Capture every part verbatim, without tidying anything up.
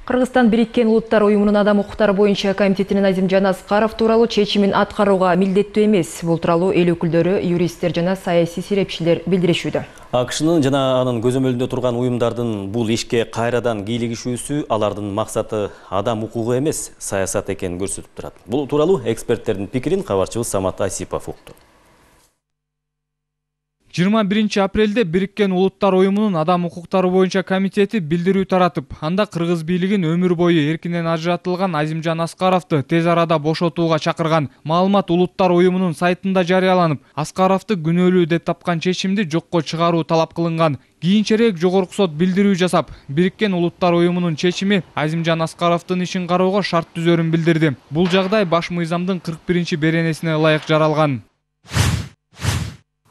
Кыргызстан Бириккен Улуттар уюмунун адам укуктары боюнча комитетинин Азимжан Аскаров тууралуу чечимин аткарууга милдеттүү эмес. Бул тууралуу эл өкүлдөрү, юристтер жана саясий серепчилер билдиришүүдө. АКШнын жана анын көзөмөлүндө турган уюмдардын бул ишке кайрадан кийлигишүүсү алардын максаты адам укугу эмес, саясат экенин көрсөтүп турат. Бул тууралуу эксперттердин пикирин кабарчыбыз Самат Айсипов укту. жыйырма биринчи апрелде Бириккен Улуттар уюмунун адам укуктары боюнча комитети билдирүү таратып, анда кыргыз бийлигин өмүр бою эркинен ажыратылган Азимжан Аскаровду тез арада бошотууга чакырган. Маалымат Улуттар уюмунун сайтында жарыяланып, Аскаровду күнөөлүү деп тапкан чечимди жокко чыгаруу талап кылынган. Кийинчерээк жогорку сот билдирүү жасап, Бириккен Улуттар уюмунун чечими Азимжан Аскаровдун ишин кароого шарт түзөрүн билдирди. Бул жагдай баш мыйзамдын кырк биринчи беренесине ылайык жаралган.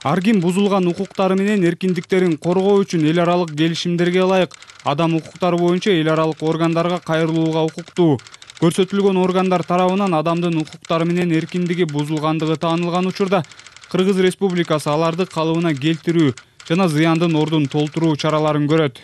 Ар ким бузулган укуктары менен эркиндиктерин коргоо үчүн эл аралык келишимдерге ылайык адам укуктары боюнча эл аралык органдарга кайрылууга укуктуу. Көрсөтүлгөн органдар тарабынан адамдын укуктары менен эркиндиги бузулгандыгы таанылган учурда Кыргыз Республикасы аларды калыбына келтирүү жана зыяндын ордун толтуруу чараларын көрөт.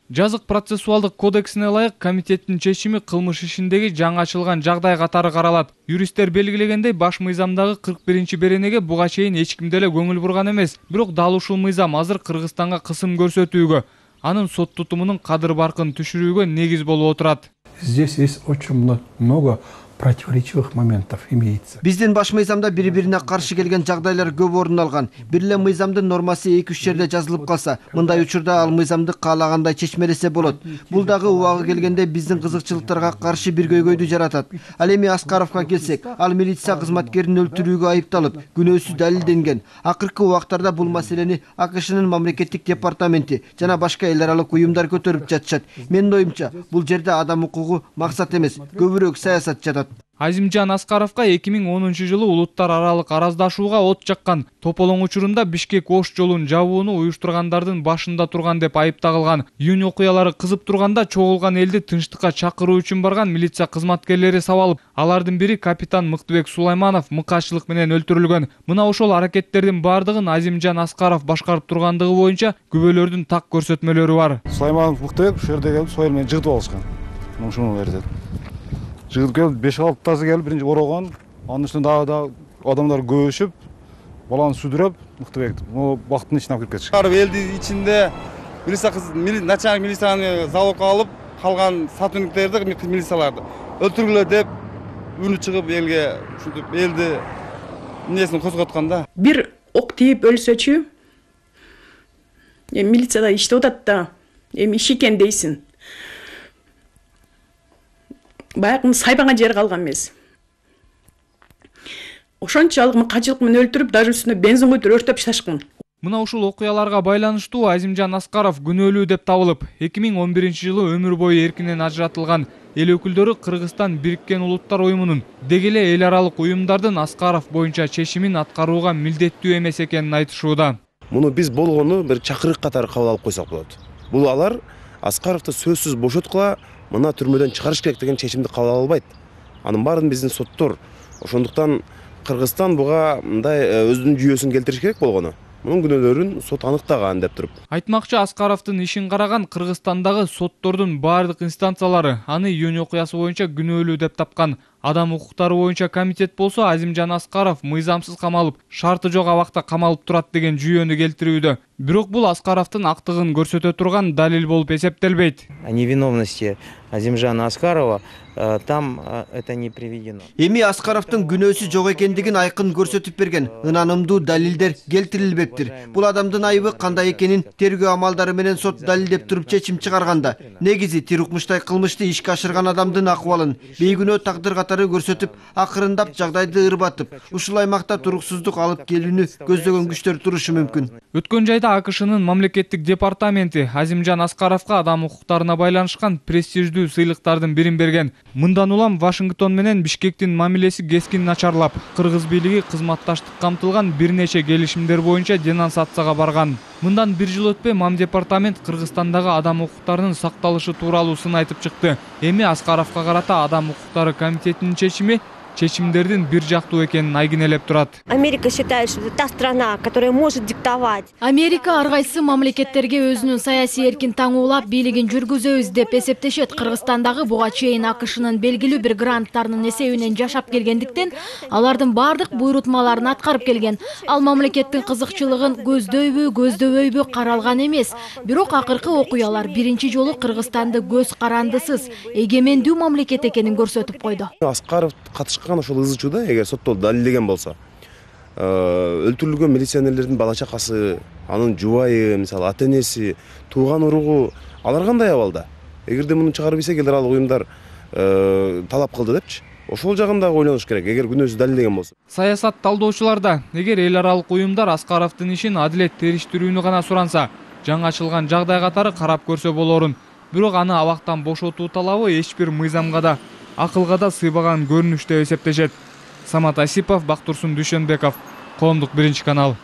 Жазык процессуалдык кодексине ылайык комитеттин чечими кылмыш ишиндеги жаңы ачылган жагдай катары каралат. Юристтер белгилегендей, баш мыйзамдагы кырк биринчи беренеге буга чейин эч ким деле көңүл бурган эмес. Бирок дал ушул мыйзам азыр Кыргызстанга кысым көрсөтүүгө, анын сот тутумунун кадыр баркын түшүрүүгө негиз болуп отурат. Здесь есть очень много противоречивых моментов имеется. Биздин баш мыйзамда бири-бирине каршы келген жагдайлар көп орун алган. Бир эле мыйзамдын нормасы эки үч жерде жазылып калса, мындай учурда ал мыйзамды каалагандай чечмелесе болот. Бул дагы убагы келгенде биздин кызыкчылыктарга каршы бир көйгөйдү жаратат. Ал эми Аскаровго келсек, ал милиция кызматкерин өлтүрүүгө айыпталып, күнөөсү далилденген. Акыркы убактарда бул маселени АКШнын мамлекеттик департаменти жана башка эл аралык уюмдар көтөрүп жатышат. Менин оюмча, бул жерде адам укугу максат эмес, көбүрөөк саясат жатат. Азимжан Аскаровго эки миң онунчу жылы улуттар аралык араздашууга от жаккан. Тополоң учурунда Бишкек Ош жолун жабууну уюштургандардын башында турган деп айыпталган. Июнь окуялары кызып турганда чогулган элди тынчтыкка чакыруу үчүн барган милиция кызматкерлери сабалып, алардын бири капитан Мыктыбек Сулайманов мыкаачылык менен өлтүрүлгөн. Мына ошол аракеттердин бардыгын Азимжан Аскаров башкарып тургандыгы боюнча күбөлөрдүн так көрсөтмөлөрү бар. Сулайманов Мыктыбек ушул жерде келип союл менен жыгытып алышкан. Ушуну эртет. Жыгыт келип беш алтысы келип биринчи орогон, анын үстүнө дагы да адамдар көбөйүшүп, баланы сүдүрөп, Мыктыбекти могу бактын ичине алып кирип кетишкен. Карып элдин ичинде милиция кыз начальник милицияны залогко алып, калган сотрудниктерди, милицияларды өлтүргүлө деп үнү чыгып элге ушинтип элди эмнесин козготкон да. Бир ок тийип өлсөчү, эми милицияда иштеп атат да, эми иш экен дейсин. Баягы сайбаңа жер калган эмес. Ошончолук мыкачылык менен өлтүрүп, даже үстүнө бензин куйдуп өрттөп ташташкан. Мына ушул окуяларга байланыштуу Азимжан Аскаров күнөөлүү деп табылып, эки миң он биринчи жылы өмүр бою эркинен ажыратылган. Эл өкүлдөрү Кыргызстан Бириккен Улуттар уюмунун деги эле эл аралык уюмдардын Аскаров боюнча чечимин аткарууга милдеттүү эмес экенин айтышууда. Муну биз болгону бир чакырык катары кабыл алып койсок болот. Бул алар Аскаровду сөзсүз бошоткула, мына түрмөдөн чыгарыш керек деген чечимди кабыл ала албайт. Анын баарын биздин соттор. Ошондуктан Кыргызстан буга мындай өзүнүн жүйөсүн келтириш керек болгону. Мунун күнөөлөрүн сот аныктаган деп туруп. Айтмакчы, Аскаровдун ишин караган Кыргызстандагы соттордун бардык инстанциялары аны июнь окуясы боюнча күнөөлүү деп тапкан. Адам укуктары боюнча комитет болсо Азимжан Аскаров мыйзамсыз камалып, шарты жок абакта камалып турат деген жүйөнү келтирүүдө. Бирок бул Аскаровдун актыгын көрсөтө турган далил болуп эсептелбейт. О невиновности Азимжана Аскарова там это не приведено. Эми Аскаровдун күнөөсү жок экендигин айкын көрсөтүп берген ынанымдуу далилдер келтирилбептир. Бул адамдын айыбы кандай экенин тергөө амалдары менен сот далилдеп туруп чечим чыгарганда, негизи тир укмуштай кылмышты ишке ашырган адамдын акыбалын бейгүнөө тагдыр катары көрсөтүп, акырындап жагдайды ырбатып, ушул аймакта туруксуздук алып келүүнү көздөгөн күчтөр турушу мүмкүн. Өткөн жайда АКШнын мамлекеттик департаменти Азимжан Аскаровго адам укуктарына байланышкан престиждүү сыйлыктардын бирин берген. Мындан улам Вашингтон менен Бишкектин мамилеси кескин начарлап, кыргыз бийлиги кызматташтык камтылган бир нече келишимдер боюнча денонсацияга барган. Мындан бир жыл өтпөй Мам департамент Кыргызстандагы адам укуктарынын сакталышы тууралуу сын айтып чыкты. Эми Аскаровго карата адам укуктары комитетинин чечими чечимдердин бир жактуу экенин айгинелеп турат. Америка считает, что это та страна, которая может диктовать. Америка ар кайсы мамлекеттерге өзүнүн саясий эркин таңуулап бийлигин жүргүзөбүз деп эсептешет. Кыргызстандагы буга чейин АКШнын белгилүү бир гранттарынын эсебинен жашап келгендиктен алардын бардык буйрутмаларын аткарып келген. Ал мамлекеттин кызыкчылыгын көздөйбү, көздөбөйбү каралган эмес. Бирок акыркы окуялар биринчи жолу Кыргызстанды көз карандысыз, эгемендүү мамлекет экенин көрсөтүп койду. Аскаров катышкан ошол ызы чууда эгер соттолуп далилдеген болсо, өлтүрүлгөн милиционерлердин бала чакасы, анын жубайы, мисалы ата-энеси, тууган уругу алар кандай абалда? Эгерде муну чыгарып ийсе эл аралык уюмдар талап кылды депчи. Ошол жагын дагы ойлонуш керек, эгер күнөөсү далилдеген болсо. Саясат талдоочулар да эгер эл аралык уюмдар Аскаровдун ишин адилет териштирүүнү гана суранса, жаңы ачылган жагдай катары карап көрсө болорун. Бирок аны абактан бошотуу талабы эч бир мыйзамга да, акылга да сыйбаган көрүнүш деп эсептешет. Самат Асипов, Бактурсун Дүйшөнбеков, Коомдук биринчи канал.